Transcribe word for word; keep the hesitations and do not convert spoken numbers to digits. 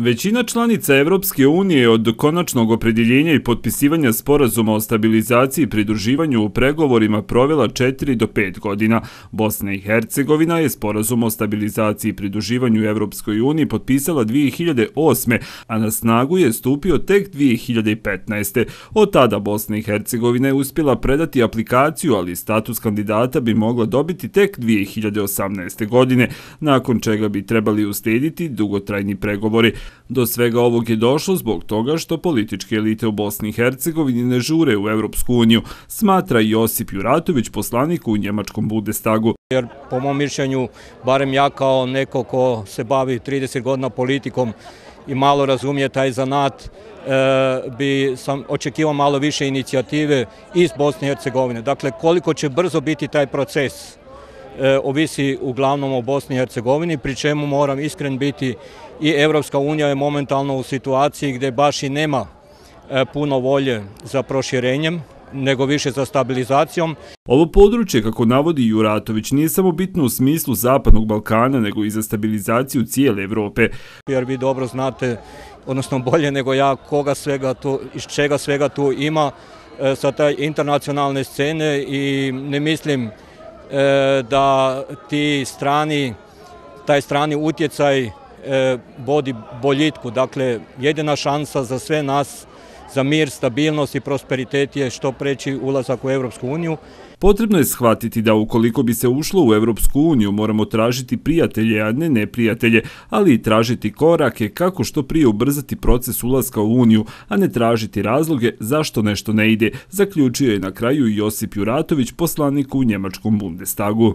Većina članica Evropske unije od konačnog opredjeljenja i potpisivanja sporazuma o stabilizaciji i pridruživanju u pregovorima provela četiri do pet godina. Bosna i Hercegovina je sporazum o stabilizaciji i pridruživanju Evropskoj uniji potpisala dvije hiljade osme. a na snagu je stupio tek dvije hiljade petnaeste. Od tada Bosna i Hercegovina je uspjela predati aplikaciju, ali status kandidata bi mogla dobiti tek dvije hiljade osamnaeste. godine, nakon čega bi trebali uslijediti dugotrajni pregovori. Do svega ovog je došlo zbog toga što političke elite u Bosni i Hercegovini ne žure u Evropsku uniju, smatra Josip Juratović, poslanik u njemačkom Bundestagu. Jer po mom mišljenju, barem ja kao neko ko se bavi trideset godina politikom i malo razumije taj zanat, e, bi sam očekivao malo više inicijative iz Bosne i Hercegovine. Dakle, koliko će brzo biti taj proces, e, ovisi uglavnom o Bosni i Hercegovini, pri čemu moram iskren biti, i Evropska unija je momentalno u situaciji gdje baš i nema e, puno volje za proširenjem, nego više za stabilizacijom. Ovo područje, kako navodi Juratović, nije samo bitno u smislu Zapadnog Balkana, nego i za stabilizaciju cijele Evrope. Jer vi dobro znate, odnosno bolje nego ja, koga svega tu, iz čega svega tu ima e, sa taj internacionalne scene, i ne mislim e, da ti strani, taj strani utjecaj e, vodi boljitku. Dakle, jedina šansa za sve nas za mir, stabilnost i prosperitet je što preći ulazak u Evropsku uniju. Potrebno je shvatiti da ukoliko bi se ušlo u Evropsku uniju, moramo tražiti prijatelje, a ne neprijatelje, ali i tražiti korake kako što prije ubrzati proces ulaska u uniju, a ne tražiti razloge zašto nešto ne ide, zaključio je na kraju Josip Juratović, poslanik u njemačkom Bundestagu.